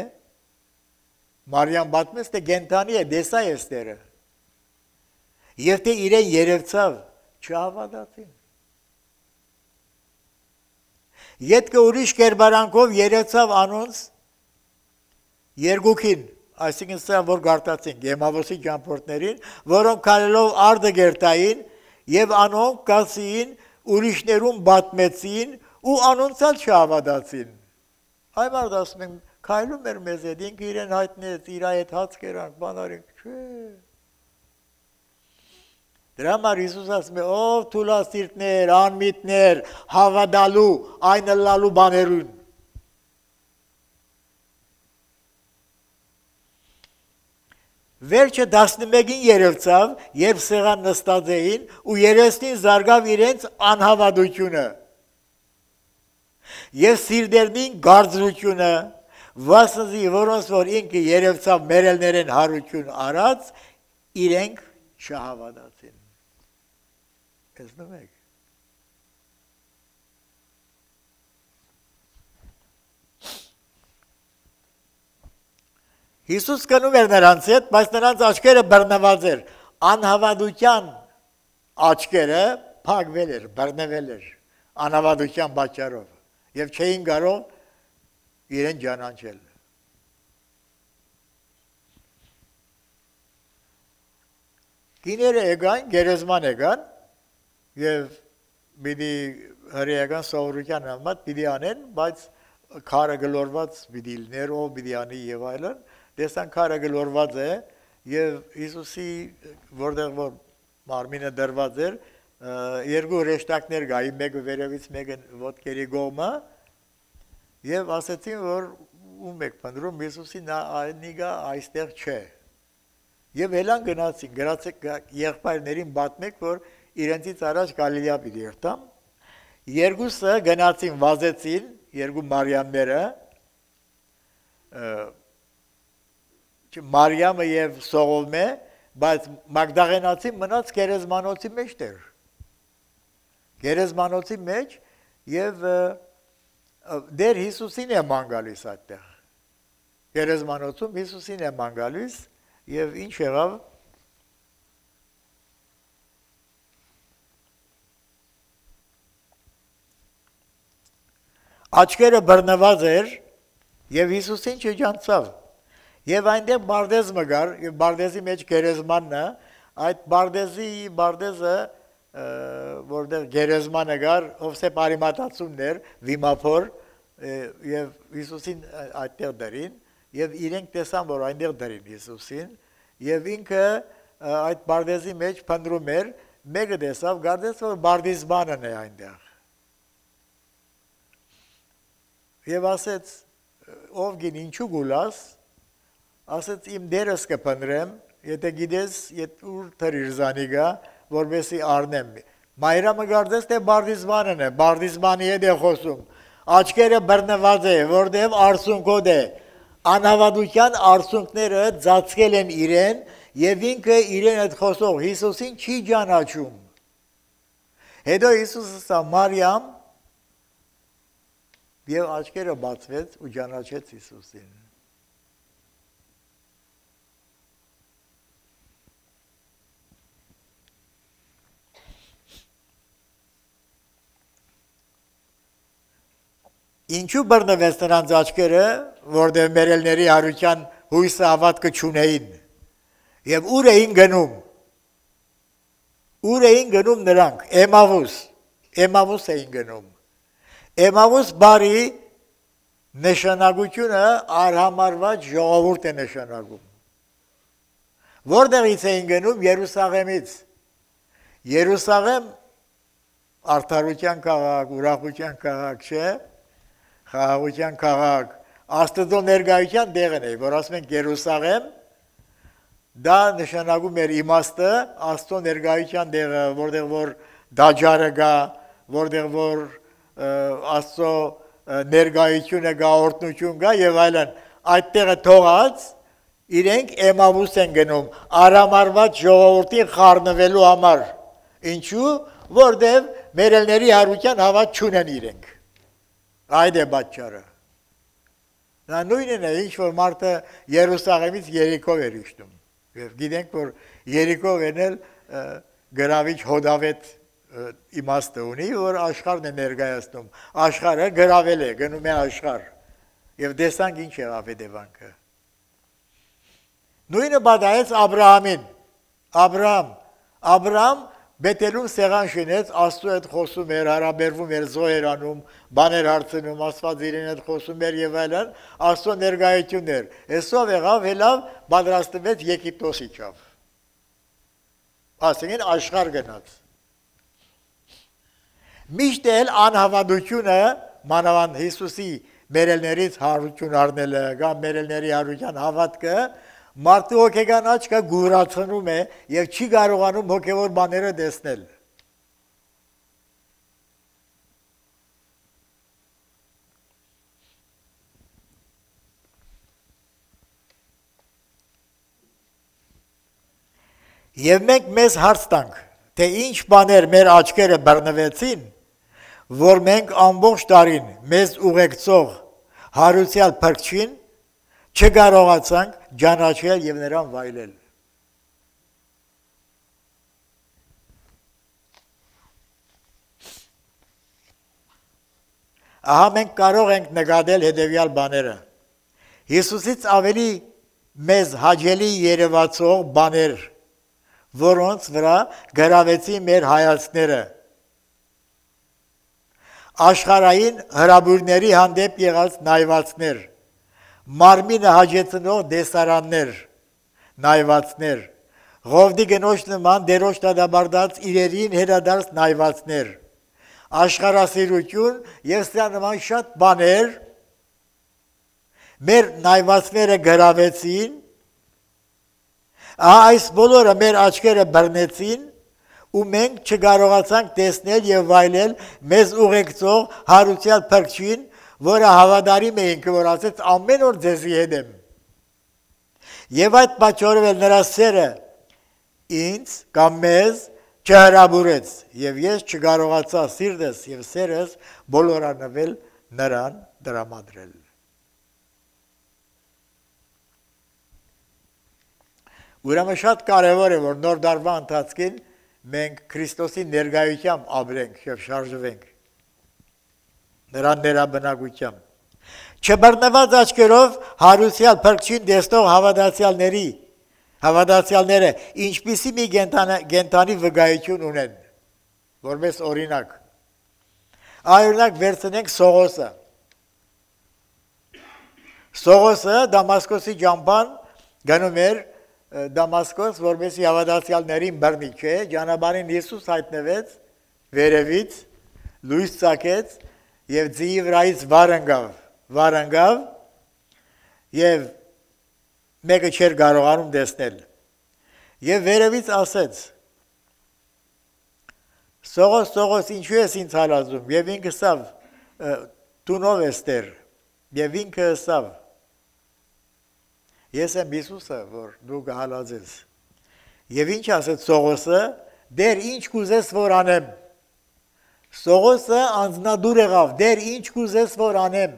Մարիամ պատմեց, թե գենթանի է, դեսա եստերը, և թե իրեն երևցավ, չհավատացին։ Ետքը ուրիշ կերպարանքով երևցավ անոնց երկուքին, այսինքն սա որ գարտացինք Էմավոսի ճամփորդներին, որոնք քալելով արդը գերտային եւ անոնք կասին ուրիշներուն պատմեցին ու անոնցալ չհավատացին։ Այ մարդ ասում են քայլում էր մեզ հետ, ինքը իրեն հայտնեց, իր այդ հաց կերանք, բանարինք, չէ։ Դրա համար Հիսուս ասում է, ով թուլասիրտներ, անմիտներ, հավատալու, այն լալու բաներուն։ Վերջը տասնմեկին երևցավ, երբ սեղան նստած էին ու երեսնին զարգավ իրենց անհավատությունը և սիրտերնին գարձրությունը, վասնզի որոնց որ ինքը երևցավ մերելներեն հարություն արած, իրենք չհավատացին։ Տեսնում եք։ Հիսուս կնում էր նրանց հետ, բայց նրանց աչքերը բռնված էր, անհավատության աչքերը փակվել էր, բռնվել էր, անհավատության պատճառով, և չէին կարող իրեն ճանաչել։ Կիները եկան, գերեզման եկան, և պիտի հրեական սովորության համար պիտի անեն, բայց քարը գլորված պիտի լիներ, ով պիտի անի և այլն, տեսան քարը գլորված է, և Հիսուսի, որտեղ որ մարմինը դրված էր, երկու հրեշտակներ գայի, մեկը վերևից, մեկը ոտքերի կողմը, և ասեցին, որ ում եք փնտրում, Հիսուսի նիգա այստեղ չէ։ Եվ հելան գնացին, գրացեք եղբայրներին պատմեք, որ իրենցից առաջ Գալիլեա պիտի երթամ, երկուսը գնացին, վազեցին, երկու Մարիամները, Մարիամը և Սողոմե, բայց Մագդաղենացին մնաց գերեզմանոցի մեջ դեր։ Գերեզմանոցի մեջ և դեր Հիսուսին է ման գալիս այդտեղ։ Գերեզմանոցում Հիսուսին է ման գալիս և ինչ եղավ։ Աչքերը բռնված էր և Հիսուսին չջանցավ։ Եվ այնտեղ բարդեզ մգար, և բարդեզի մեջ գերեզմանն է, այդ բարդեզի, բարդեզը, որտեղ գերեզմանը գար, Հովսեփ Արիմաթացուն էր, վիմափոր, և Հիսուսին այդտեղ դրին, և իրենք տեսան, որ այնտեղ դրին Հիսուսին, և ինքը այդ բարդեզի մեջ փնտրում էր, մեկը տեսավ, գարդես, որ բարդիզմանն է այնտեղ։ Եվ ասեց, ով գին ինչու գուլաս, ասեց իմ դերս կփնտրեմ, եթե գիտես, ուր թրիր զանիգա, որպեսի առնեմ։ Մայրամը գարդես, թե բարդիզմանն է, բարդիզմանի հետ է խոսում, աչքերը բռնված է, որտև արցունքոտ է, անհավատության արցունքները ծածկել են իրեն, և ինքը իրեն հետ խոսող Հիսուսին չի ճանաչում։ Հետո Հիսուսը ասա Մարիամ, և աչքերը բացվեց ու ճանաչեց Հիսուսին։ Ինչու բռնվեց նրանց աչքերը, որտեղ մերելների հարության հույսը հավատքը չունեին, և ուր էին գնում, ուր էին գնում նրանք, Էմավուս, Էմավուս էին գնում, Էմավուս բարի նշանակությունը արհամարված ժողովուրդ է նշանակում, որտեղից էին գնում, Երուսաղեմից, Երուսաղեմ արդարության քաղաք, ուրախության քաղաք չէ, խաղաղության քաղաք, Աստծո ներկայության տեղն է, որ ասում ենք Երուսաղեմ, դա նշանակում էր իմաստը, Աստծո ներկայության տեղը, որտեղ որ դաջարը գա, որտեղ որ Աստծո ներկայությունը գա, օրհնություն գա եւ այլն, այդտեղը թողած իրենք Էմավուս են գնում, արամարված ժողովրդին խառնվելու համար, ինչու, որտեղ մերելների հարության հավատ չունեն իրենք, այդ է պատճառը։ Նա նույնն է, ինչ որ մարդը Երուսաղեմից Երիկով էր իջնում, եւ գիտենք, որ Երիկով էնել գրավիչ հոդավետ իմաստը ունի, որ աշխարհն է ներկայացնում, աշխարհը գրավել է, գնում է աշխարհ, եւ տեսանք ինչ եղավ հետևանքը։ Նույնը պատահեց Աբրահամին, Աբրահամ, Աբրահամ Բեթելում սեղան շինեց, Աստծո հետ խոսում էր, հարաբերվում էր, զոհեր անում, բաներ հարցնում, Աստված իրեն հետ խոսում էր եւ այլն, Աստծո ներկայությունն էր։ Այսով եղավ, հելավ պատրաստվեց Եգիպտոս իջավ։ Ասենք աշխարհ գնաց։ Միշտ էլ անհավատությունը մանավանդ Հիսուսի մերելներից հարություն առնելը, կամ մերելների հարության հավատքը մարդու հոգեկան աչքը գուրացնում է եւ չի կարողանում հոգեոր բաները տեսնել։ Եվ մենք մեզ հարց տանք, թե ինչ բաներ մեր աչքերը բռնվեցին, որ մենք ամբողջ տարին մեզ ուղեկցող հարուցյալ փրկչին չկարողացանք ճանաչել եւ նրան վայելել։ Ահա մենք կարող ենք նկատել հետևյալ բաները։ Հիսուսից ավելի մեզ հաճելի երևացող բաներ, որոնց վրա գրավեցին մեր հայացքները։ Աշխարհային հրաբուրների հանդեպ եղած նայվածներ, մարմինը հաջեցնող դեսարաններ, նայվածներ, Ղովդի գնոջ նման դերոջ դադարդած իրերին հերադարձ նայվածներ, աշխարհասիրություն եւ սրա նման շատ բաներ մեր նայվածները գրավեցին, այս բոլորը մեր աչքերը բռնեցին ու մենք չկարողացանք տեսնել եւ վայելել մեզ ուղեկցող հարուցյալ փրկչին, որը հավատարիմ էինք, որ ասեց ամեն օր ձեզի հետ եմ։ Եվ այդ պատճառով էլ նրա սերը ինձ կամ մեզ չհրաբուրեց, եւ ես չկարողացա սիրտս եւ սերս բոլորանվել նրան դրամադրել։ Ուրեմն շատ կարևոր է, որ նոր դարվա ընթացքին մենք Քրիստոսի ներկայությամբ ապրենք եւ շարժվենք նրան ներաբնակությամբ։ Չբռնված աչքերով հարուսյալ փրկչին տեսնող հավատացյալների, հավատացյալները ինչպիսի մի կենդանի վկայություն ունեն, որպես օրինակ։ Օրինակ վերցնենք Սողոսը։ Սողոսը Դամասկոսի ճամփան գնում էր Դամասկոս, որպեսզի հավատացյալներին բռնի, չէ, ճանապարհին Հիսուս հայտնվեց վերևից, լույս ծագեց եւ ձիի վրայից վար ընկավ, վար ընկավ եւ մեկը չէր կարողանում տեսնել։ Եվ վերևից ասեց. Սողոս, Սողոս, ինչու ես ինձ հալածում։ Եվ ինքը ասավ, տունով ես տեր։ Եվ ինքը ասավ. Ես եմ Հիսուսը, որ դու կհալածես։ Եվ ինչ ասեց Սողոսը, դեր ինչ կուզես որ անեմ։ Սողոսը անձնադուր եղավ, դեր ինչ կուզես որ անեմ։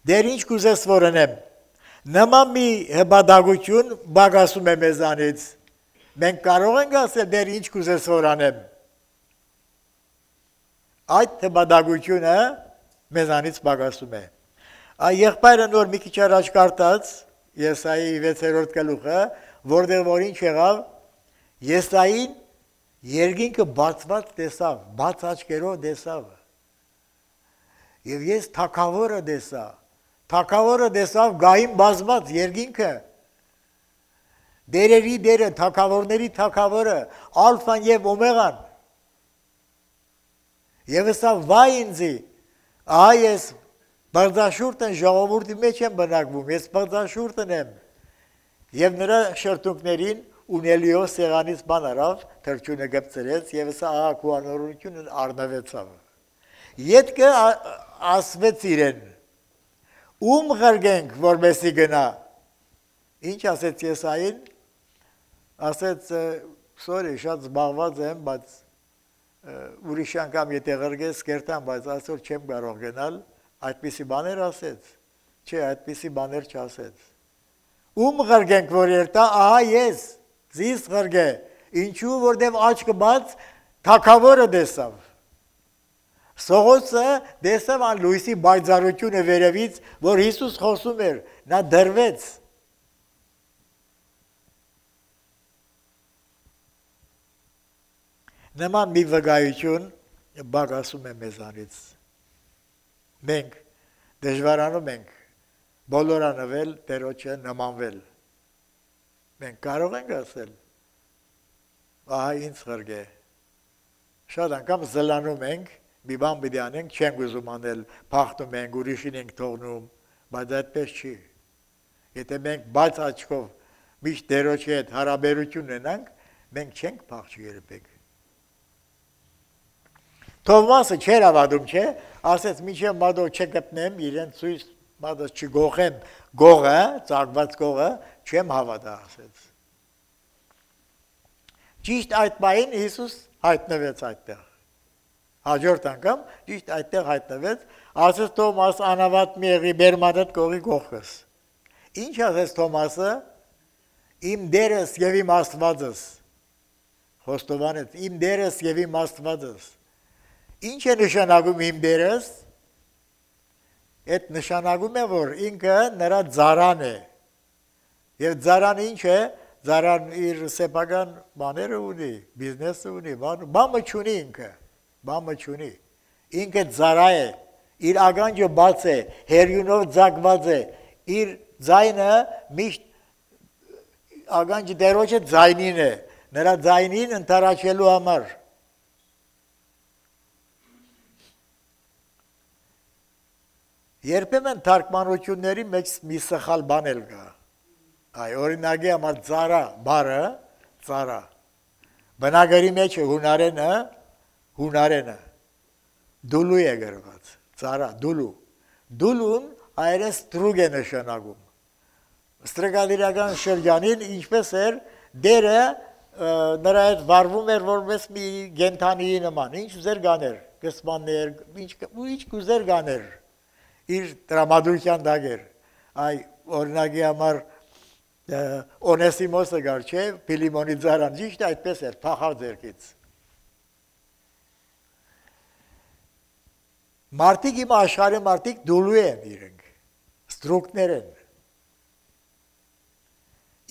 Դեր ինչ կուզես որ անեմ։ Նման մի հպատակություն բագասում է մեզանից։ Մենք կարող ենք ասել, դեր ինչ կուզես որ անեմ։ Այդ հպատակությունը մեզանից բագասում է։ Այ եղբայրը նոր մի քիչ առաջ կարդաց Եսայի վեցերորդ գլուխը, որտեղ որ ինչ եղավ, Եսային երկինքը բացված տեսավ, բաց աչքերով տեսավ։ Եվ ես թագավորը տեսա, թագավորը տեսավ գային բազմած երկինքը, դերերի դերը, թագավորների թագավորը, ալֆան եւ օմեգան։ Եվ ասավ վայ ինձի, Ահա ես բարձաշուրտն ժողովրդի մեջ եմ բնակվում, ես բարձաշուրտն եմ։ Եվ նրա շրթունքներին ունելիո սեղանից բան արավ, թրջունը գծրեց եւ սա ահա քուանորությունն առնվեցավ։ Ետքը ասվեց իրեն. Ում ղրգենք, որպեսի գնա։ Ինչ ասեց Եսային։ Ասեց, sorry, շատ զբաղված եմ, բայց ուրիշ անգամ եթե ղրգես կերտամ, բայց այսօր չեմ կարող գնալ, այդպիսի բաներ ասեց։ Չէ, այդպիսի բաներ չասեց։ Ում ղրգենք, որ երտա, ահա ես, զիս ղրգե, ինչու, որտև աչքը բաց, թագավորը դեսավ։ Սողոսը դեսավ ան լույսի բայձարությունը վերևից, որ Հիսուս խոսում էր, նա դրվեց։ Նման մի վկայություն բագասում է մեզանից։ Մենք դժվարանում ենք բոլորանվել Տերոջը նմանվել։ Մենք կարող ենք ասել, ահա ինձ ղրգե։ Շատ անգամ զլանում ենք, մի բան պիտի անենք, չենք ուզում անել, փախնում ենք, ուրիշին ենք թողնում, բայց այդպես չի։ Եթե մենք բաց աչքով միշտ Տերոջի հետ հարաբերություն ունենանք, մենք չենք փախչի երբեք։ Թովմասը չէր ավադում, չէ, ասեց միջև մադո չգտնեմ, իրեն ցույց մադո չգողեմ, գողը, ծաղկված գողը, չեմ հավատա, ասեց։ Ճիշտ այդ պահին Հիսուս հայտնվեց այդտեղ։ Հաջորդ անգամ ճիշտ այդտեղ հայտնվեց, ասեց Թոմաս անավատ մի եղի բերմադդ կողի գողքս։ Ինչ ասեց Թոմասը, իմ դերս եւ իմ Աստվածս։ Խոստովանեց, իմ դերս եւ իմ Աստվածս։ Ինչ է նշանակում իմ դերս։ Այդ նշանակում է, որ ինքը նրա ձարան է։ Եվ ձարան ինչ է, ձարան իր սեփական բաները ունի, բիզնեսը ունի, բամը չունի ինքը, բամը չունի։ Ինքը ձարա է, իր ագանջը բաց է, հերյունով ձագված է, իր ձայնը միշտ ագանջը դերոջը ձայնին է, նրա ձայնին ընթարաչելու համար։ Երբեմն թարգմանությունների մեջ մի սխալ բան էլ կա։ Այ օրինակի համար ծառա բառը, ծառա։ Բնագարի մեջ հունարենը, հունարենը դուլու է գրված, ծառա, դուլու։ Դուլուն այրեն ստրուգ է նշանակում։ Ստրգադիրական շրջանին ինչպես էր դերը նրա հետ վարվում էր որպես մի գենթանիի նման, ինչ ուզեր գաներ, կսմաններ, ինչ ուզեր գաներ։ Իր տրամադրության դագեր, այ օրինակի համար Օնեսիմոսը գար չէ, Փիլիմոնի ձարան, ճիշտ այդպես էր, փախավ ձերքից։ Մարդիկ իմ աշխարհի մարդիկ դուլու են իրենք, ստրուկներ են։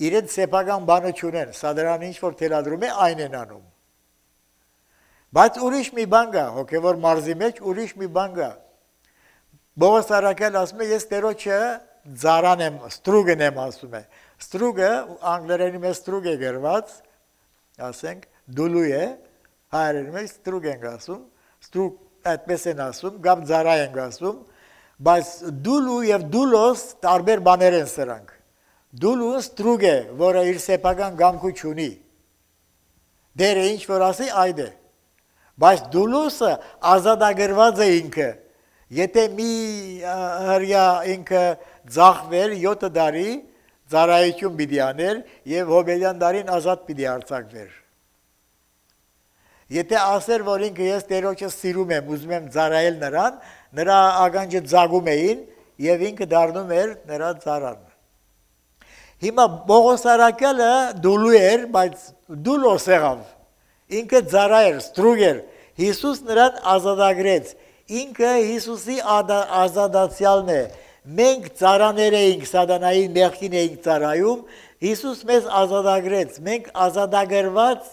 Իրենց սեփական բանը չունեն, սա դրան ինչ որ թելադրում է, այն են անում։ Բայց ուրիշ մի բան կա, հոգևոր մարզի մեջ ուրիշ մի բան կա։ Բողոս Արաքել ասում է, ես Տերոջը ձարան եմ, ստրուգն եմ ասում է։ Ստրուգը, անգլերենի մեջ ստրուգ է գրված, ասենք, դուլու է, հայերենի մեջ ստրուգ ենք ասում, ստրուգ այդպես են ասում, գապ ձարա ենք ասում, բայց դուլու և դուլոս տարբեր բաներ են սրանք։ Դուլուն ստրուգ է, որը իր սեփական գամքու չունի։ Դերը ինչ որ ասի, այդ է։ Բայց դուլուսը ազատագրված է ինքը։ Եթե մի հրյա ինքը ձախվեր յոթ դարի ծառայություն պիտի աներ եւ հոբելյան դարին ազատ պիտի արձակվեր։ Եթե ասեր, որ ինքը ես Տերոջը սիրում եմ, ուզում եմ ծառայել նրան, նրա ագանջը ձագում էին եւ ինքը դառնում էր նրա ծառան։ Հիմա Բողոս Արաքյալը դուլու էր, բայց դուլոս եղավ։ Ինքը ծառա էր, ստրուգ էր։ Հիսուս նրան ազատագրեց։ Ինքը Հիսուսի ազատացյալն է։ Մենք ծառաներ էինք, սատանայի մեղքին էինք ծառայում, Հիսուս մեզ ազատագրեց։ Մենք ազատագրված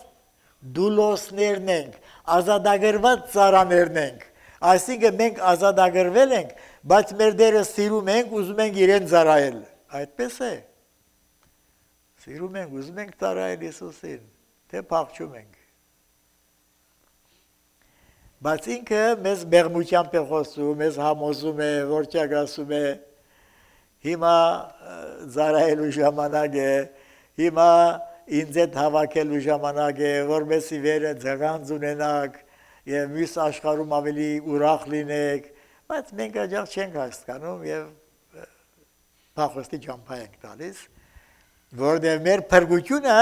դուլոսներն ենք, ազատագրված ծառաներն ենք։ Այսինքն մենք ազատագրվել ենք, բայց մեր դերը սիրում ենք, ուզում ենք իրեն ծառայել։ Այդպես է։ Սիրում ենք, ուզում ենք ծառայել Հիսուսին, թե փախչում ենք։ Բայց ինքը մեզ մեղմությամբ է խոսում, մեզ համոզում է, որճակ ասում է, հիմա զարայելու ժամանակ է, հիմա ինձ հետ հավաքելու ժամանակ է, որպեսզի վերը ձղանձ ունենաք եւ մյուս աշխարհում ավելի ուրախ լինեք, բայց մենք աջակ չենք հասկանում եւ փախոստի ճամփա ենք տալիս, որտեղ մեր փրկությունը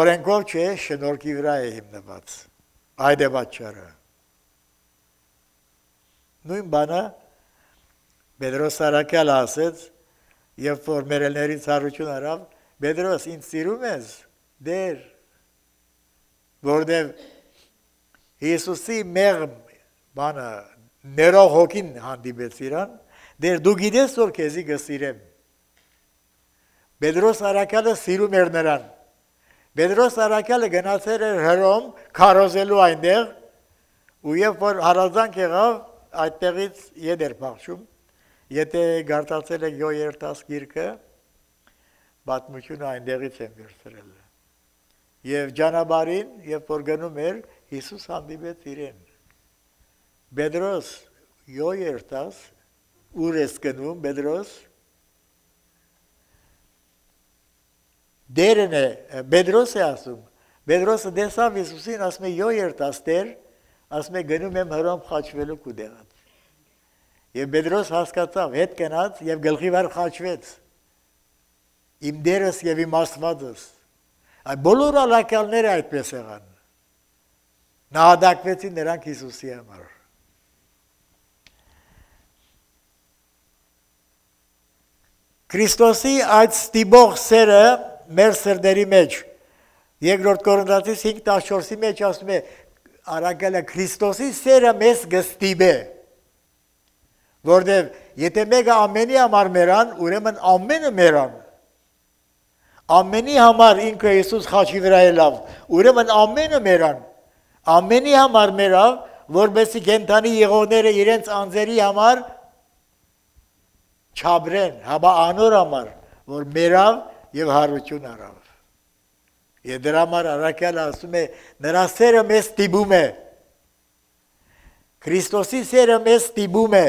օրենքով չէ, շնորհքի վրա է հիմնված։ Այդ է պատճառը։ Նույն բանը Պետրոս Արաքյալը ասեց, երբ որ մերելներից հարություն արավ, Պետրոս, ինձ սիրում ես, դեր, որտեղ Հիսուսի մեղմ բանը ներող հոգին հանդիպեց իրան, դեր դու գիտես, որ քեզի կսիրեմ։ Պետրոս Արաքյալը սիրում էր նրան։ Պետրոս Արաքյալը գնացել էր Հռոմ քարոզելու այնտեղ, ու երբ որ հարազանք եղավ, այդտեղից ետ էր փախչում, եթե գարտացել եք յոյերտաս գիրքը, պատմությունը այնտեղից եմ վերցրել։ Եվ ճանապարհին, երբ որ գնում էր, Հիսուս հանդիպեց իրեն։ Պետրոս, յոյերտաս, ուր ես գնում, Պետրոս։ Դերն է, Պետրոս է ասում, Պետրոսը դեսավ Հիսուսին, ասում է յոյերտաս Տեր, ասում է գնում եմ Հռոմ խաչվելու կուդեղած։ Եվ Պետրոս հասկացավ, հետ գնաց եւ գլխի վրա խաչվեց։ Իմ դերս եւ իմ Աստվածս։ Այդ բոլոր ալակալները այդպես եղան։ Նահատակվեցին նրանք Հիսուսի համար։ Քրիստոսի այդ ստիպող սերը մեր սրտերի մեջ երկրորդ Կորինթացիս հինգ տասնչորսի մեջ ասում է Արաքյալը Քրիստոսի սերը մեզ կստիպե, որտեղ եթե մեկը ամենի համար մեռան, ուրեմն ամենը մեռան։ Ամենի համար ինքը Հիսուս խաչի վրա ելավ, ուրեմն ամենը մեռան։ Ամենի համար մեռավ, որպեսզի կենդանի եղողները իրենց անձերի համար չաբրեն, հաբա անոր համար, որ մեռավ եւ հարություն արավ։ Եվ դրա համար Արաքյալը ասում է, նրա սերը մեզ ստիպում է։ Քրիստոսի սերը մեզ ստիպում է։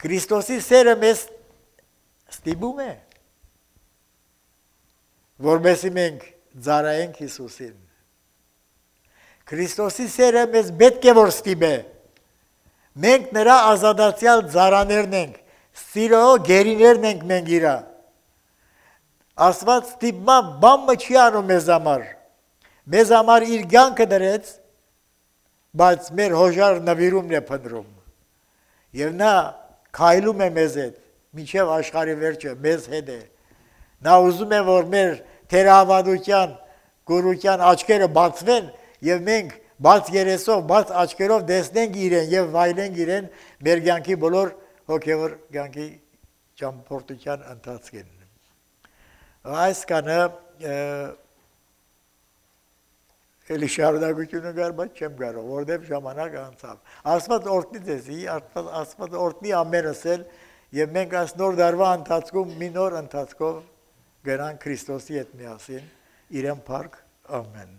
Քրիստոսի սերը մեզ ստիպում է, որպեսզի մենք ծառայենք Հիսուսին։ Քրիստոսի սերը մեզ պետք է որ ստիպե։ Մենք նրա ազատացյալ ծառաներն ենք, սիրո գերիներն ենք մենք իրա։ Աստված ստիպման բամը չի անում մեզ համար։ Մեզ համար իր կյանքը դրեց, բայց մեր հոժար նվիրումն է փնտրում։ Եվ նա քայլում է մեզ հետ, մինչև աշխարհի վերջը մեզ հետ է։ Նա ուզում է, որ մեր թերահավատության, գորության աչքերը բացվեն եւ մենք բաց երեսով, բաց աչքերով տեսնենք իրեն եւ վայելենք իրեն մեր կյանքի բոլոր հոգեվոր կյանքի ճամփորդության ընթացքին։ Այս կանը էլի շարունակությունը կար, բայց չեմ կարող, որտեղ ժամանակ անցավ։ Աստված օրհնի ձեզի, Աստված օրհնի ամենս էլ եւ մենք այս նոր դարվա ընթացքում մի նոր ընթացքով գնանք Քրիստոսի հետ միասին իրեն փառք ամեն։